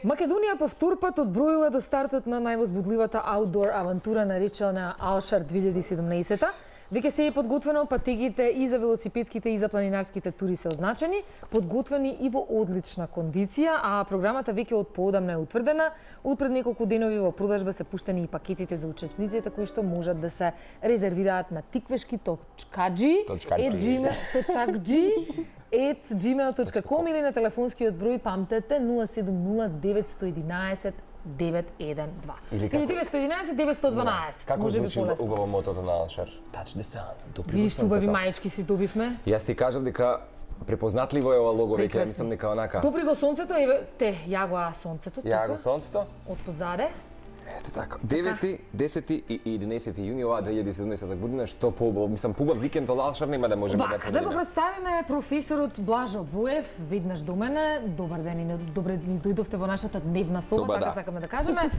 Македонија по втор пат одбројува до стартот на највозбудливата аутдор авантура наречена Алшар 2017. Веќе се е подготвено, патегите и за велосипедските и за планинарските тури се означени, подготвени и во одлична кондиција, а програмата веќе од поодамна е утврдена. Од пред неколку денови во продажба се пуштени и пакетите за учесниците кои што можат да се резервираат на tikveški.gmail.com или на телефонскиот број, памтете, 070 911 912. Или 911 912. Како звучи убаво мотото на Алшар? Touch the sun. Виж, убави мајчки си добивме. Јас ти кажам дека препознатливо е ова лого, веќе мислам дека онака. Добри го сонцето, еве, ја го сонцето тука. Ја го сонцето. Од позаде. Ето така. 9, 10 и 11 јуни оваа 2017 година, што поубаво, мислам, поубав викенд од Алшар нема да можеме да поделиме. Да го представиме професорот Блажо Боев, веднаш до мене. Добар ден и добре ни дојдовте во нашата дневна соба, така сакаме да кажеме.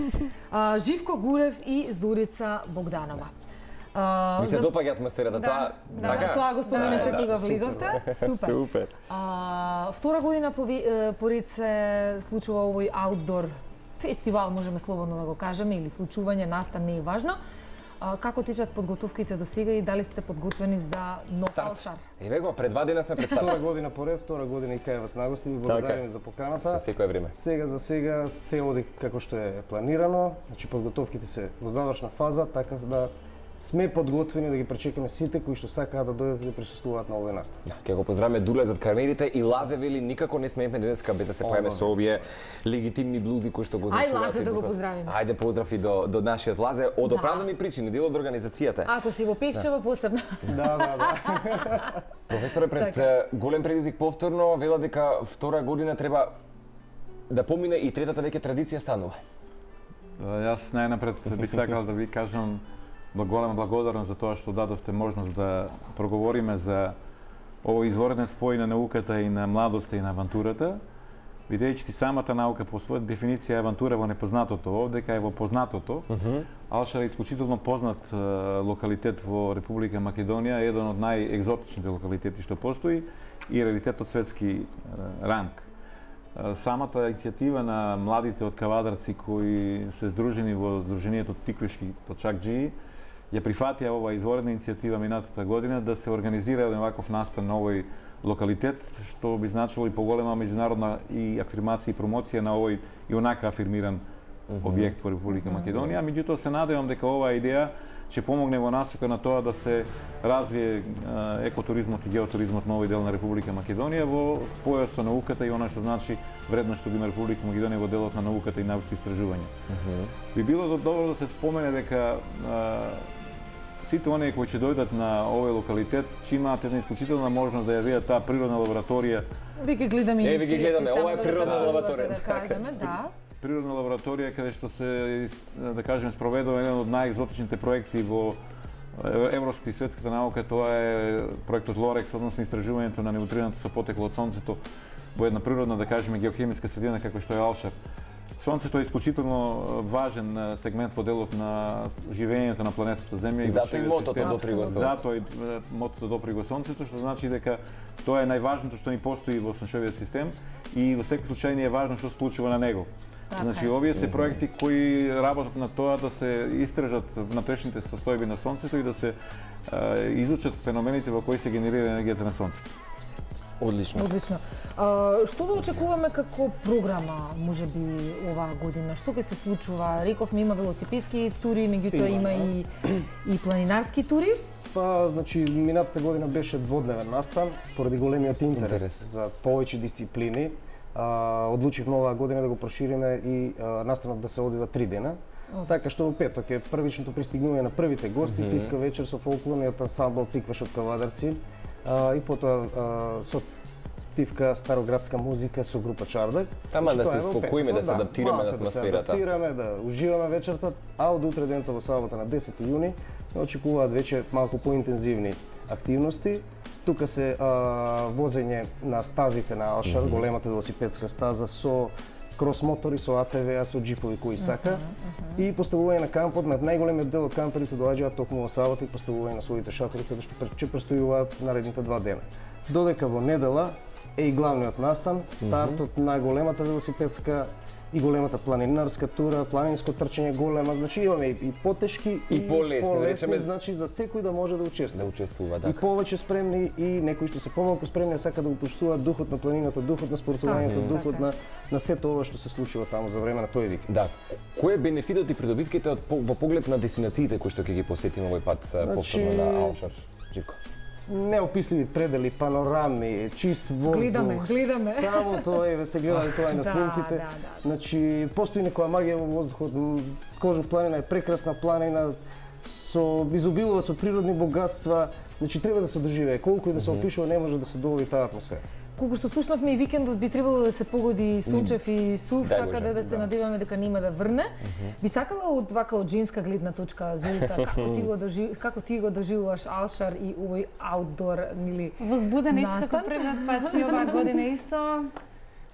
Живко Гурев и Зорица Богданова. Ми се допаѓа атмосферата, тоа така? Тоа го споменавте кога влеговте. Супер. Втора година поред се случува овој аутдор фестивал, можеме слободно да го кажеме, или случување, настан, не е важно. Како течат подготовките до сега и дали сте подготвени за нов Алшар? Еве го, пред 2 дена сме представени. Втора година поред, втора година и кај вас нагости, ви благодариме за поканата. За секое време. За сега се оди како што е планирано, значи подготовките се во завршна фаза, така да сме подготвени да ги пречекаме сите кои што сакаат да дојдат да присуствуваат на овој настан. Ќе го поздравиме Дуле зад камерите и Лазе вели никако не смееме денеска без да се појавиме со овие легитимни блузи кои што го означуваат. Ај Лазе да го поздравиме. Ајде поздрав и до нашиот Лазе од оправдани причини, дел од организацијата. Ако си во Пекчево посебно. Да. Професоре, пред голем предизвик повторно вела дека втора година треба да помине и третата веќе традиција станува. Јас најнапред би сакал да ви кажам голема благодарност за тоа што дадовте можност да проговориме за овој извореден спој на науката и на младоста и на авантурата, бидејќи самата наука по своја дефиниција е авантура во непознатото, овдека е во познатото. Алшар е исклучително познат локалитет во Република Македонија, еден од најегзотичните локалитети што постои и раритет од светски ранг. Самата иницијатива на младите од Кавадарци кои се здружени во здруженијето tikveški.gmail.com ја прифатија ова изворедна иницијатива минатата година да се организира еден ваков настан на овој локалитет, што би значило и поголема меѓународна и афирмација и промоција на овој и онака афирмиран објект во Република Македонија. Меѓутоа се надевам дека оваа идеја ќе помогне во насока на тоа да се развие екотуризмот и геотуризмот на овој дел на Република Македонија во спојот со науката и она што значи вредно што има Република Македонија во делот на науката и научни истражувања. Би било добро да се спомене дека сите оние кои ќе дојдат на овој локалитет ќе имаат една исклучителна можност да ја видат таа природна лабораторија. Веќе гледаме и ова е природна лабораторија. Да кажеме, да. Природна лабораторија каде што се, да кажем, спроведува еден од најекзотичните проекти во европска и светската наука, тоа е проектот Лорекс, односно истражувањето на неутриното со потекло од Сонцето во една природна, да кажеме, геохемиска средина како што е Алшар. Сонцето е исклучително важен сегмент во делот на живењето на планетата Земја. Затоа и мотото допри го Сонцето. Затоа и мотото допри го Сонцето, што значи дека тоа е најважното што ни постои во сончевиот систем и во секој случај ни е важно што се случува на него. Значи, овие се проекти кои работат на тоа да се истражат внатрешните состојби на Сонцето и да се изучат феномените во кои се генерира енергијата на Сонцето. Одлично. Што да очекуваме како програма, можеби, оваа година? Што ќе се случува? Рековме има велосипедски тури, меѓутоа има и планинарски тури. Значи, минатата година беше дводневен настан, поради големиот интерес за повеќе дисциплини. Одлучивме оваа година да го прошириме и настанот да се одвива 3 дена. Така што во петок е првичното пристигнување на првите гости, тивка вечер со фолклорниот ансамбл Tikveš од Кавадарци и потоа со тивка староградска музика со група Чардак. Тама да се успокоиме, да се адаптираме на атмосферата. Да се адаптираме, да уживаме вечерта, а од утре денот во сабота на 10 јуни очекуваат веќе малку поинтензивни активности. Тука се возење на стазите на Алшар, големата велосипедска стаза со крос-мотори, со АТВ, со джипови кои сака. И поставување на кампот, на најголемиот дел од камперите доаѓаат токму во сабота и поставување на своите шатори, каде што ќе престојуваат наредните 2 дена. Додека во недела е и главниот настан, стартот на големата велосипедска и големата планинарска тура, планинско трчање голема, значи имаме и потешки И полесни, да речеме, значи за секој да може да учествува. Да учествува, И така. повеќе спремни и некои што се помалку спремни, сака да го поштуваат духот на планината, духот на спортувањето, духот на сето ова што се случува таму за време на тој викенд. Да. Кој е бенефитот и придобивките во поглед на дестинациите кои што ќе ги посетиме овој пат повторно на Алшар? Живко. Неописливи предели, панорами, чист воздух. Гледаме. Само тоа се гледа тоа и на снимките. Да. Значи постои некоја магија во воздухот. Кожув планина е прекрасна планина со изобилува со природни богатства. Значи треба да се доживее. Колку и да се опишува, не може да се долови таа атмосфера. Колку што слушнавме и викендот би требало да се погоди сончев и сув, Дај така Боже, да се надеваме дека нема да врне. Би сакала од женска гледна точка, Зоица, како ти го доживуваш Алшар и овој аутдор или Возбудена исто настан? како првиот пат и оваа година исто.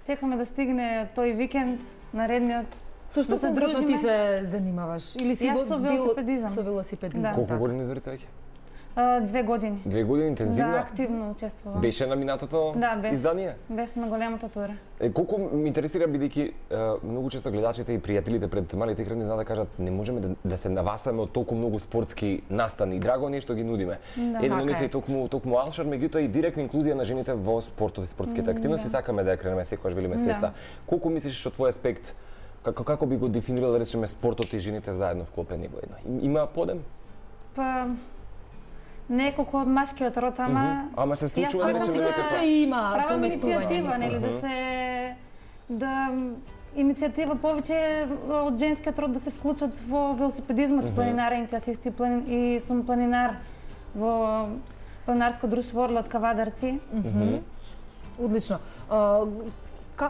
Чекаме да стигне тој викенд, наредниот. со што да се конкретно ти дружиме. се занимаваш? Или си Јас со велосипедизам. Со велосипедизам, Да. Колку така. години Зорица веќе? 2 години. 2 години Да, интензивно? активно учествувам. Беше на минатото Да, бев. издание? Бев на големата тура. Колку ме интересира бидејќи многу често гледачите и пријателите пред малите екрани знаат да кажат не можеме да се навасаме од толку многу спортски настани и драго нешто ги нудиме. Да. Еден од нив Така е е. токму Алшар, меѓутоа и директна инклузија на жените во спортот и спортските активности, сакаме да ја кренеме секогаш велиме свеста. Колку мислиш од твој аспект како би го дефинирал да речеме спортот и жените заедно вклопени во едно? Има подем? Па неколку од машкиот род, ама Ама се случува да Јас речеме сакам дека да- Че има правам поместување, иницијатива, мислам. нели, да иницијатива повеќе од женскиот род да се вклучат во велосипедизмот, планинарен класисти и сум планинар во планинарско друштво Орле од Кавадарци. Одлично.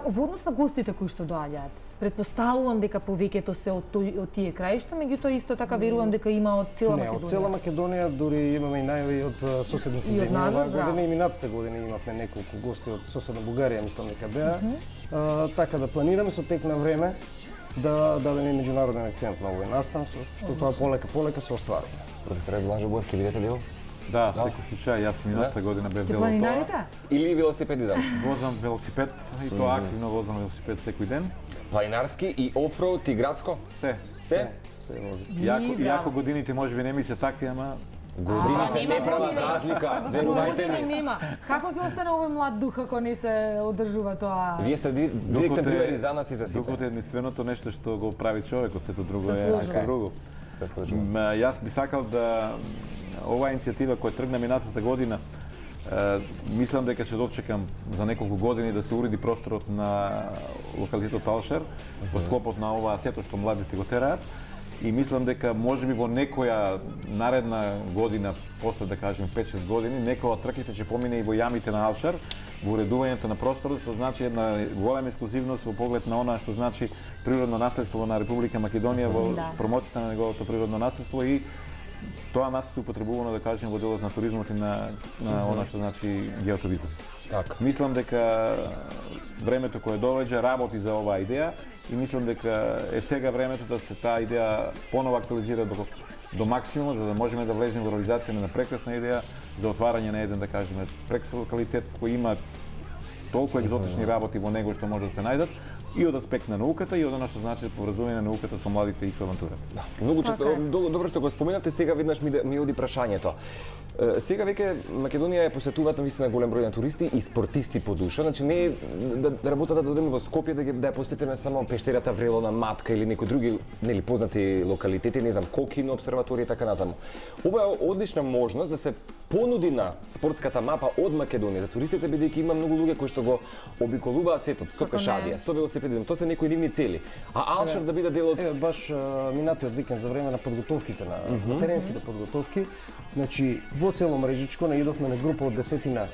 Во однос на гостите кои што доаѓаат, предпоставувам дека повеќето се од тие краишта, меѓутоа исто така верувам дека има од цела Не, Македонија. од цела Македонија, дури имаме и најави од соседните И од земји нас, оваа браво. година и минатата година имавме неколку гости од соседна Бугарија, мислам дека беа. Така да планираме со тек на време да дадеме меѓународен акцент на овој настан, што тоа полека се остварува. професор Блажо Боев ќе видите ли го? Да, во секој случај, јас минатата година бев Ке дел од тоа. планинарите? Или велосипедизам? Возам велосипед и тоа активно возам велосипед секој ден. Планинарски и офроуд и градско? Се. Се? Се вози. Иако годините можеби не ми се такви, ама Годините не прават разлика, верувајте Години ми. нема. Како ќе остане овој млад дух ако не се одржува тоа? Вие сте директен пример и за нас и за сите. духот е единственото нешто што го прави човекот, сето друго Се е сложува. нешто друго. Се служува. Јас би сакал да оваа иницијатива која тргна минатата година, мислам дека ќе дочекам за неколку години да се уреди просторот на локалитетот Алшар во склопот на ова сето што младите го тераат. И мислам дека можеби во некоја наредна година, после да кажем 5-6 години, некоја од трките ќе помине и во јамите на Алшар, во уредувањето на просторот, што значи една голема ексклузивност во поглед на она што значи природно наследство на Република Македонија во Да. промоцијата на неговото природно наследство и тоа наследство употребувано да кажем во делот на туризмот и на она што значи геотуризам. Така. Мислам дека времето кое доаѓа работи за оваа идеја и мислам дека е сега времето да се таа идеја поново актуализира до максимум за да можеме да влеземе во реализација на прекрасна идеја за отварање на еден да кажеме прекрасен локалитет кој има толку екзотични работи во него што може да се најдат и од аспект на науката и од она што значи поврзување на науката со младите и со авантурата. Многу често, Така е. добро што го споменавте, сега веднаш ми оди прашањето. Сега веќе Македонија ја посетуваат навистина голем број на туристи и спортисти по душа, значи не е да работата да одиме во Скопје да ја посетиме само пештерата Врелона Матка или некои други нели познати локалитети, не знам, Кокино обсерваторија и така натаму. Ова е одлична можност да се понуди на спортската мапа од Македонија за туристите бидејќи има многу луѓе кои што го обиколуваат светот со Како не? пешадија, со велосипедизам, тоа се некои нивни цели. А Алшар да биде дел од Еве баш минатиот викенд за време на подготовките на теренските подготовки, значи во село Мрежичко наидовме на група од 10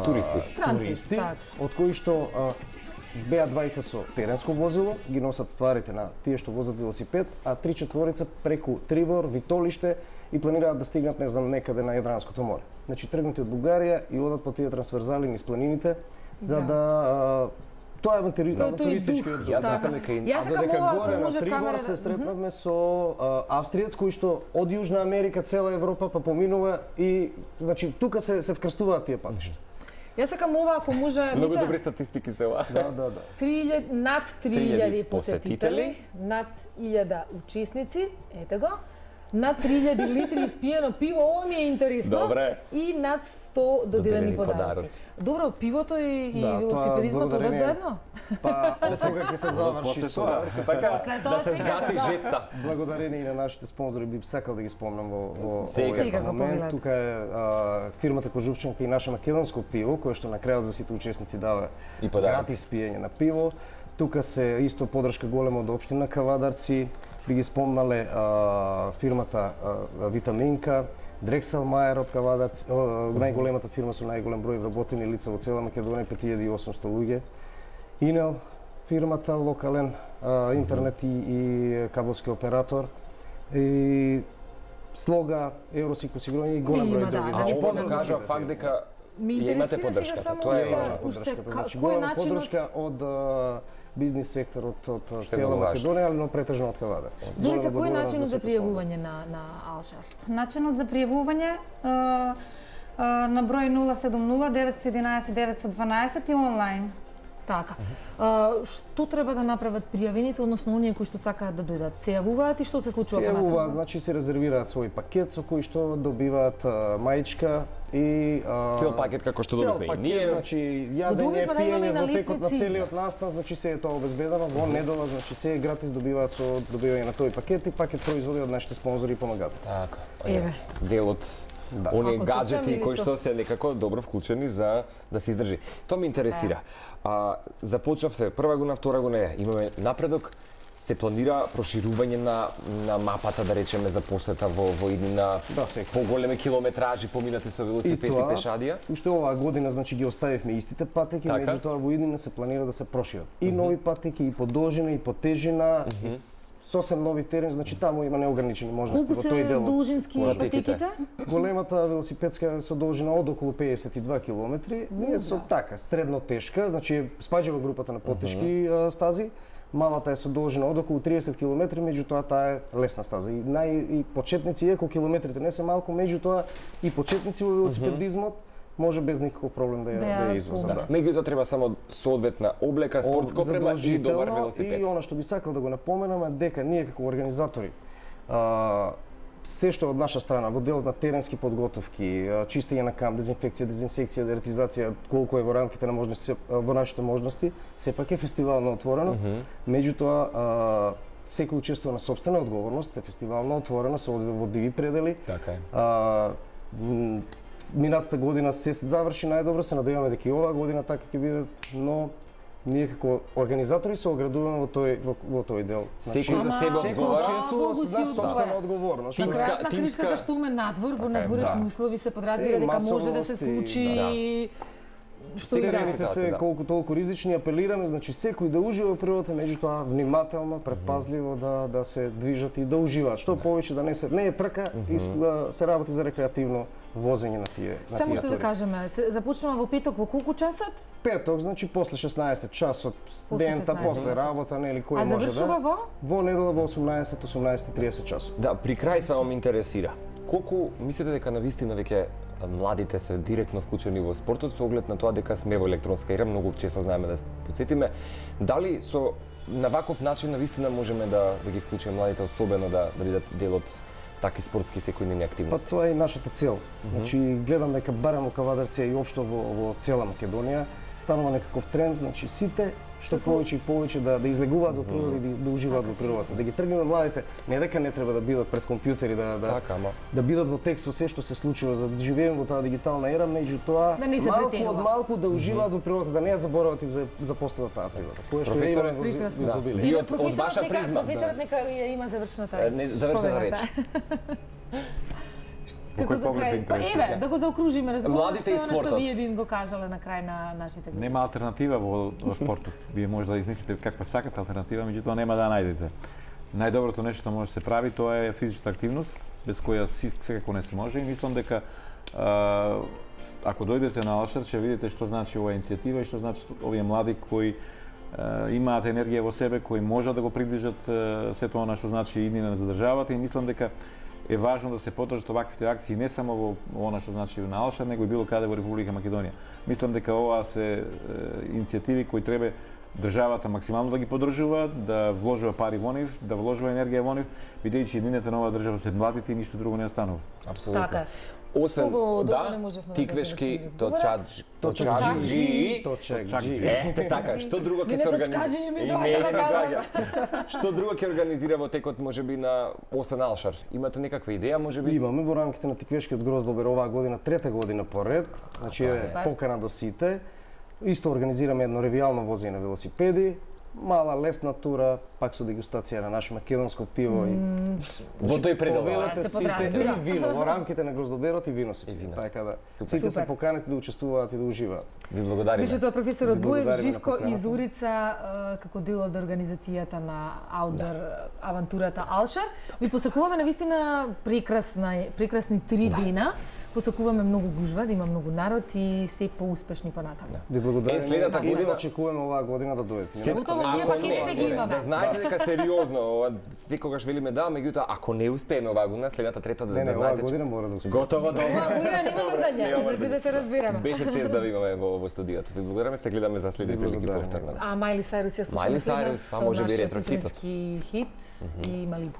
Туристи. Странци, так. од кои што беа двајца со теренско возило, ги носат стварите на тие што возат велосипед, а 3-4 преку Трибор, Витолиште и планираат да стигнат, не знам, некаде на Јадранското море. Значи тргнати од Бугарија и одат по тие трансверзали низ планините за да тоа е авантуристичкиот дух. Јас мислам дека и Јас А сакам додека ова, горе ако на може Трибор камера се да... сретнавме со австриец кој што од Јужна Америка, цела Европа па поминува и значи тука се вкрстуваат тие патишта. Јас сакам ова ако може Многу добри статистики се ова. Да. 3000 над 3000 посетители, посетители, над 1000 учесници, ете го. Над 3000 литри испиено пиво, ова ми е интересно. Добре. И над 100 доделени подароци. подароци. Добро, пивото и Да, велосипедизмот тоа одат благодарение- заедно? Па, од кога ќе се заврши После со тоа. Така, След тоа да се сега, згаси да. жетта. благодарение и на нашите спонзори, би сакал да ги спомнам во Сега. Сега овој го момент. погледате. Тука е фирмата Кожупчанка и наше македонско пиво, кое што на крајот за сите учесници дава И подароци. гратис пиење на пиво. Тука се исто подршка голема од општина Кавадарци. Би ги спомнале фирмата Витаминка, Дрексел Мајер од Кавадарци, најголемата фирма со најголем број вработени лица во цела Македонија, 5800 луѓе. Инел фирмата, локален интернет и кабелски оператор. И Слога, Евросик осигурување и голем Има, број да. други. А Значи, ова да подршка. кажа факт дека Ми ја имате интересира сега поддршката. само Тоа е уште- важно. Поддршката, значи кој голема начинот- поддршка од бизнис секторот од Што е цела многу важно. Македонија, но претежно од Кавадарци. Зорица, Голема кој е благодарност начинот до за сите спонзори. пријавување на Алшар? Начинот за пријавување на број 070 911 912 и онлайн. Така. Што треба да направат пријавените, односно оние кои што сакаат да дојдат? Се јавуваат и што се случува Се понатаму? јавуваат, значи се резервираат свој пакет со кој што добиваат маичка и Цел пакет како што цел добивме и пакет, ние. значи Добивме јадење, сме да имаме пиење на во текот на летници. целиот настан, значи се е тоа обезбедено во недела, значи се е гратис добиваат со добивање на тој пакет и пакет производи од нашите спонзори и помагатели. Така. Еве. Дел од Да. оние Ако гаджети тучам или кои со- што се некако добро вклучени за да се издржи. Тоа ме интересира. Започнавте прва година, втора година, имаме напредок, се планира проширување на мапата, да речеме, за посета во иднина, Да, се. поголеми километражи поминати со велосипед и пешадија. Уште оваа година значи ги оставивме истите патеки, Така. меѓутоа во иднина се планира да се прошират. И нови патеки, и по должина, и по тежина, и сосем нови терени, значи таму има неограничени можности Колку во тој се дел. должински патеките? патеките? Големата велосипедска со должина од околу 52 километри, ние со така средно тешка, значи спаѓа во групата на потешки стази. Малата е со должина од околу 30 километри, меѓутоа таа е лесна стаза. И почетници, иако километрите не се малку, меѓутоа и почетници во велосипедизмот може без никаков проблем да ја извозат. Да. Да. Меѓутоа треба само соодветна облека, спортска опрема и добар велосипед. И она што би сакал да го напоменам е дека ние како организатори се што од наша страна во делот на теренски подготовки, чистење на камп, дезинфекција, дезинсекција, дератизација, колку е во рамките на можности, во нашите можности, сепак е фестивал на отворено. Меѓутоа секој учествува на сопствена одговорност, е фестивал на отворено, се одвива во диви предели. Така е. Минатата година се заврши најдобро, се надеваме дека и оваа година така ќе биде, но ние како организатори се оградуваме во тој дел. Секој за себе Секој одговара. учествува Богу на си собствена одговара. одговорност. На Тимска- крајот на тимска- кришката што уме надвор, во надворешни Да. услови се подразбира дека може да се масовност и- случи што и да. Терените се да. колку толку ризични, апелираме, значи секој да ужива во природата, меѓутоа внимателно, предпазливо да се движат и да уживаат. Што повеќе да не е трка, се работи за рекреативно возење на тие Само што да тури. кажеме, започнува во петок во колку часот? Петок, значи после 16 часот После дента, 16 после часот. работа, нели кој А може завршува да. во? Во недела во 18:30 часот. Да, при крај само ме интересира. Колку мислите дека навистина веќе младите се директно вклучени во спортот со оглед на тоа дека сме во електронска ера, многу често знаеме да се потсетиме, дали со на ваков начин навистина можеме да ги вклучиме младите, особено да бидат дел од такви спортски секојдневни Па активности? тоа е и нашата цел. Значи гледам дека барем во Кавадарци и општо во цела Македонија станува некаков тренд, значи сите што повеќе и повеќе да излегуваат во природа и да уживаат во природата. Да ги тргнеме младите, не дека не треба да бидат пред компјутери, Така, ама. да бидат во текст со се што се случува, за да живееме во таа дигитална ера, меѓутоа Да не се малку претенува. од малку да уживаат во природата, да не ја заборават и за постава таа природа. Која што ја Професоре, имаме во прекрасно. изобилие. Вие од Професорот ваша нека- призма, Професорот нека ја има завршната Не, завршена реч. По кој поглед те Па интересира? еве, да го заокружиме разговорот, Младите што и е она што спортот. вие би им го кажале на крај на нашите гледачи. Нема алтернатива во спортот. Вие може да измислите каква сакате алтернатива, меѓутоа нема да ја најдете. Најдоброто нешто што може да се прави тоа е физичка активност, без која секако не се може и мислам дека ако дојдете на Алшар ќе видите што значи оваа иницијатива и што значи овие млади кои имаат енергија во себе, кои можат да го придвижат се тоа што значи иднина за државата и мислам дека е важно да се подржат оваквите акции не само во она што значи на Алшар, него и било каде во Република Македонија. Мислам дека ова се иницијативи кои треба државата максимално да ги поддржува, да вложува пари во нив, да вложува енергија во нив, бидејќи едината на оваа држава се младите и ништо друго не останува. Апсолутно. Така е. Освен, Много добро не да, можевме да тиквешки, кажеме точаджи, ете така, што друго ќе се точкаджи ми доаѓа мене да ми кажам. доаѓа. Што друго ќе организира во текот можеби на освен Алшар? Имате некаква идеја можеби? Имаме во рамките на Тиквешкиот Гроздобер оваа година, трета година поред, значи е Супер. покана до сите. Исто организираме едно ревијално возење на велосипеди, мала лесна тура, пак со дегустација на наше македонско пиво и Во тој предел. повелете се сите подразбира. и вино во рамките на Гроздоберот и вино се И пие. вино се. Така да Супер. сите се Супер. поканети да учествуваат и да уживаат. Ви благодариме. Беше тоа професорот Ви Буев, благодариме на Живко поканата. и Зурица како дел од организацијата на Аудор авантурата Алшар. Ви посакуваме навистина прекрасни 3 дена. Посакуваме многу гужва, да има многу народ и се поуспешни понатаму. Ви благодариме. следната и година- да очекуваме оваа година да дојдете. Готово, ние Ако пакетите не, ги имаме. Да знаете дека сериозно, ова секогаш велиме да, меѓутоа ако не успееме оваа година, следната трета да Не, оваа знаете. година мора да успееме. Готово, добро. Ова година нема мрдање, значи да се разбереме. Беше чест да ви имаме во студиото. Ви благодараме, се гледаме за следни прилики благодариме. повторно. А Мајли Сайрус ја слушаме Мајли след нас Сайрус, па со може би нашиот ретро хитот. украински хит и Малибу.